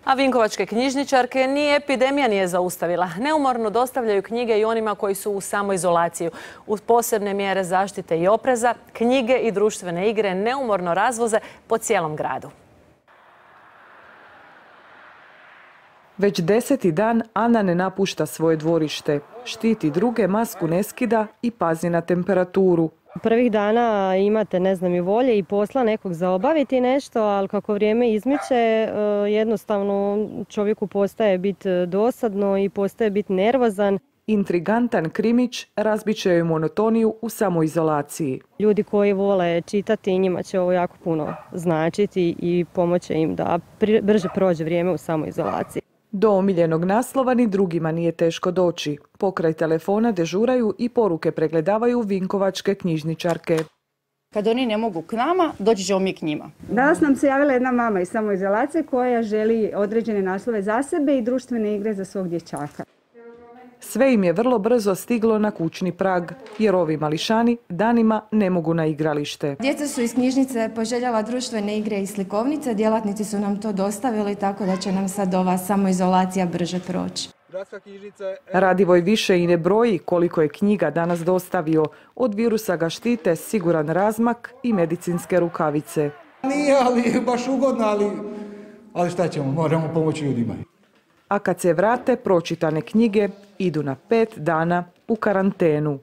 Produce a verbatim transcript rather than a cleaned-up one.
A vinkovačke knjižničarke ni epidemija nije zaustavila. Neumorno dostavljaju knjige i onima koji su u samoizolaciji. Uz posebne mjere zaštite i opreza, knjige i društvene igre neumorno razvoze po cijelom gradu. Već deseti dan Ana ne napušta svoje dvorište. Štiti druge, masku ne skida i pazi na temperaturu. Prvih dana imate, ne znam, i volje i posla nekog za obaviti nešto, ali kako vrijeme izmiče, jednostavno čovjeku postaje biti dosadno i postaje biti nervozan. Intrigantan krimić razbit će joj monotoniju u samoizolaciji. Ljudi koji vole čitati, njima će ovo jako puno značiti i pomoći im da brže prođe vrijeme u samoizolaciji. Do omiljenog naslova ni drugima nije teško doći. Pokraj telefona dežuraju i poruke pregledavaju vinkovačke knjižničarke. Kad oni ne mogu k nama, doći ćemo mi k njima. Danas nam se javila jedna mama iz samoizolacije koja želi određene naslove za sebe i društvene igre za svog dječaka. Sve im je vrlo brzo stiglo na kućni prag, jer ovi mališani danima ne mogu na igralište. Djeca su iz knjižnice poželjela društvene igre i slikovnice, djelatnici su nam to dostavili, tako da će nam sad ova samoizolacija brže proći. Radivoj više i ne broji koliko je knjiga danas dostavio. Od virusa ga štite siguran razmak i medicinske rukavice. Nije, ali baš ugodno, ali, ali šta ćemo, moramo pomoći ljudima. A kad se vrate, pročitane knjige idu na pet dana u karantenu.